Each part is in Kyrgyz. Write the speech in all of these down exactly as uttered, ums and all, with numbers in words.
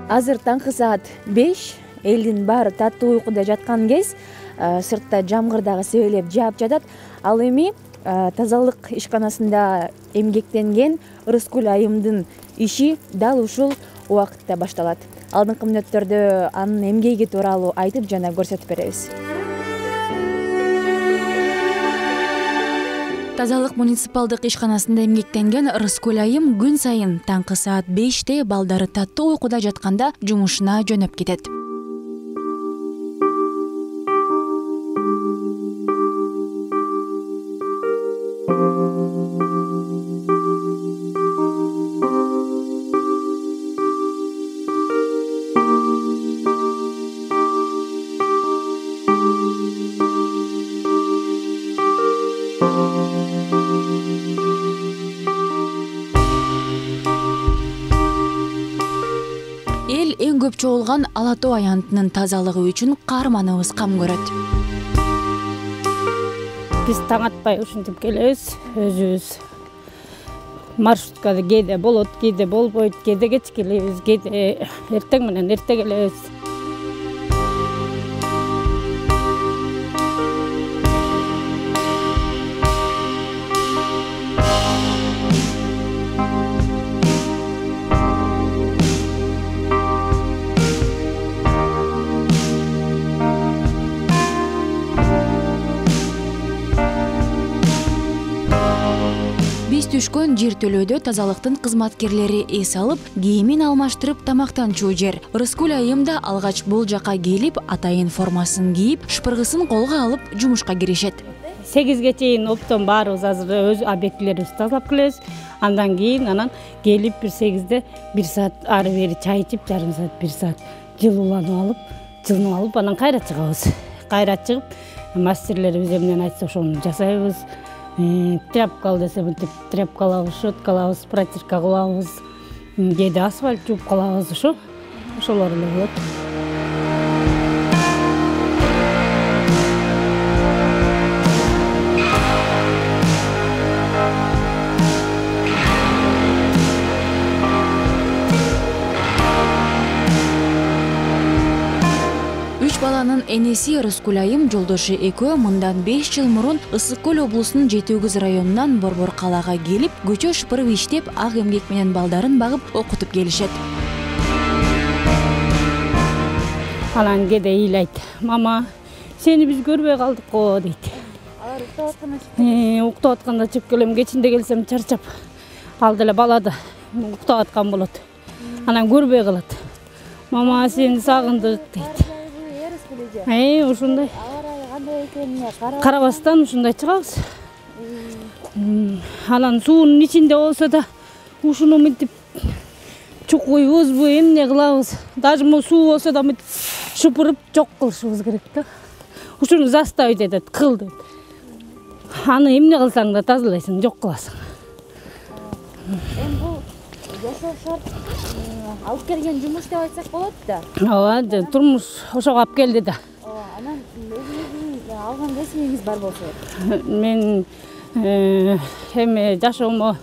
Азыр таңкы саат беш, элдин баары таттуу уйкуда жаткан кез, сыртта жамгыр дагы себелеп жаап жатат. Ал эми тазалык ишканасында эмгектенген Рыскүл айымдын иши дал ушул убакытта башталат. Алдыңкы мүнөттөрдө анын эмгеги тууралуу айтып жана көрсөтүп беребиз. Тазалык муниципалдык ишканасында эмгектенген Рыскүл айым күн сайын таңкы саат беште балдары таттуу уйкуда жатканда жумушуна жөнөп кетет. Эл эң көп чогулган Ала тоо аянтынын тазалыгы үчүн каарманыбыз кам көрөт. Биз таң атпай ушинтип келебиз, өзүбүз маршруткада кээде болот, кээде болбойт, кээде кеч келебиз, кээде эртең менен эрте келебиз. Биз түшкөн жертөлөөдө тазалыктын кызматкерлери эс алып, кийимин алмаштырып тамактанчу жер. Рыскүл айым да алгач бул жака келип, атайын формасын кийип, шпыргысын колго алып жумушка киришет. сегизге чейин оптон баарыбыз азыр өз объектилерибизди тазалап келебиз. Андан кийин анан келип бир сегизде бир саат ары бери чай ичип, жарым саат, бир саат жылууланып алып, жылынып алып, анан кайра чыгабыз. Кайра чыгып, мастерлерибиз эмнени айтса ошону жасайбыз. Тряпка ал десе мынтип тряпка алабыз, щетка алабыз, протирка кылабыз, кээде асфальт жууп калабыз, ошо ошолор эле болот. Үч баланын энеси Рыскүл айым жолдошу экөө мындан беш жыл мурун Ысык көл облусунун Жети Өгүз районунан Борбор калаага келип, көчө шыпырып иштеп, ак эмгек менен балдарын багып, окутуп келишет. Анан кээде ыйлайт: "Мама, сени биз көрбөй калдык го" дейт. Алар уктап атканда чыгып Уктап атканда чыгып келем, кечинде келсем чарчап, ал деле бала да уктап аткан болот. Анан көрбөй калат. "Мама, сени сагындык" дейт. Эй, ушундай. кандай экенине Карабастан ушундай чыгабыз. Анан суунун ичинде болсо да ушуну мынтип чукуйбузбу, эмне кылабыз? Даже могу суу болсо да мынтип шыпырып жок кылышыбыз керек да. Ушуну заставить этет, кыл дейт. Аны эмне кылсаң да тазалайсың, жок кыласың. Эми бул жашоо шарт алып келген жумуш деп айтсак болот да. Ооба, турмуш ошого алып келди да. Анан өзүңүздүн алган кесибиңиз бар болсо? Мен эми жашоомо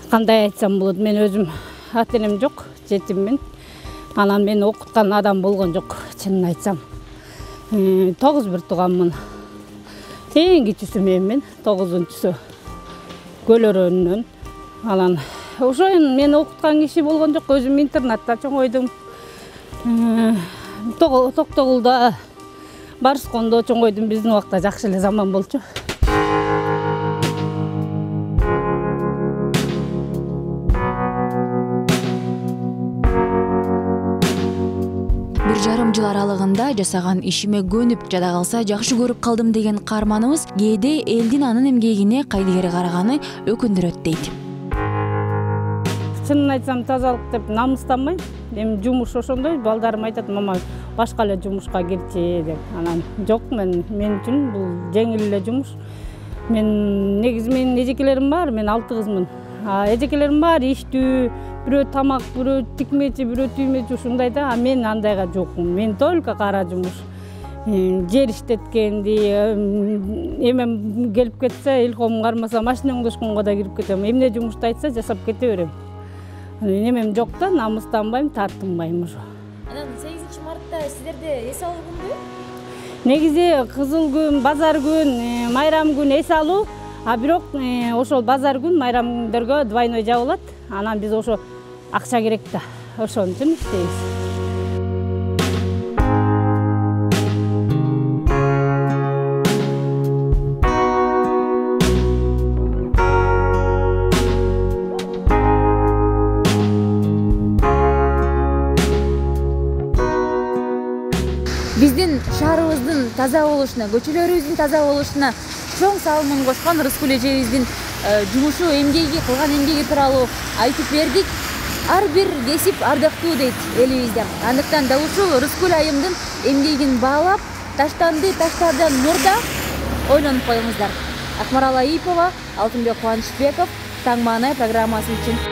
кандай айтсам болот, мен өзүм ата-энем жок, жетиммин. Анан мени окуткан адам болгон жок, чынын айтсам. Тогуз бир тууганмын. Эң кичүүсү менмин, тогузунчусу Көлөрөнүнөн. Анан ошону мени окуткан киши болгон жок, өзүм интернатта чоңойдум. Токтогулда, Барскондо чоңойдум, биздин убакта жакшы эле заман болчу. Бир жарым жыл аралыгында жасаган ишиме көнүп, жада калса жакшы көрүп калдым деген каарманыбыз кээде элдин анын эмгегине кайдыгери караганы өкүндүрөт дейт. Чынын айтсам, тазалык деп намыстанбайм. Эми жумуш ошондой, балдарым айтат: "Мама, башка эле жумушка кирчи" деп. Анан жок, мен мен үчүн бул жеңил эле жумуш. Мен негизи менин эжекелерим бар, мен алты кызмын. А эжекелерим баары иштүү, бирөө тамак, бирөө тикмечи, бирөө түймечи ушундай да. А мен андайга жокмун. Мен только кара жумуш. Жер иштеткенди, эмем келип кетсе, илком кармаса, машина оңдошконго да кирип кетем. Эмне жумушту айтса жасап кете берем. немем жок да, намыстанбайм, тартынбайм уже. Анан сегизинчи мартта сиздерде эс алуу күнбү? Негизи кызыл күн, базар күн, майрам күн эс алуу, а бирок ошол базар күн, майрам күндөргө двойной жабылат. Анан биз ошо акча керек да, ошон үчүн иштейбиз. Биздин шаарыбыздын таза болушуна, көчөлөрүбүздүн таза болушуна чоң салымын кошкон Рыскүл эжебиздин жумушу, эмгеги, кылган эмгеги тууралуу айтып бердик. Ар бир кесип ардактуу дейт элибизде. Андыктан дал ушул Рыскүл айымдын эмгегин баалап, таштанды таштардан мурда ойлонуп коюңуздар. Акмарал Аипова, Алтынбек Кубанычбеков, Таң маанай программасы үчүн.